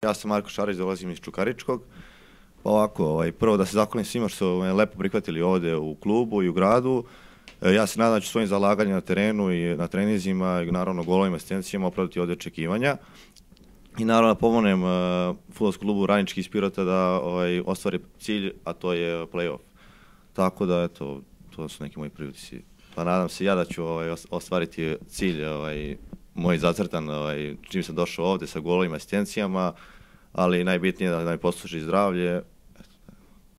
Ja sam Marko Šarić, dolazim iz Čukaričkog. Pa ovako, prvo da se zahvalim svima što su me lepo prihvatili ovde u klubu i u gradu. Ja se nadam da ću svojim zalaganjem na terenu i na treninzima i naravno golovima, asistencijama opravdati ovde očekivanja. I naravno da pomognem fudbalskom klubu Radnički iz Pirota da ostvari cilj, a to je play-off. Tako da, eto, to su neki moji priutisci. Pa nadam se ja da ću ostvariti cilj moj zacrtan čim sam došao ovde sa golovima, asistencijama, ali najbitnije je da mi posluži zdravlje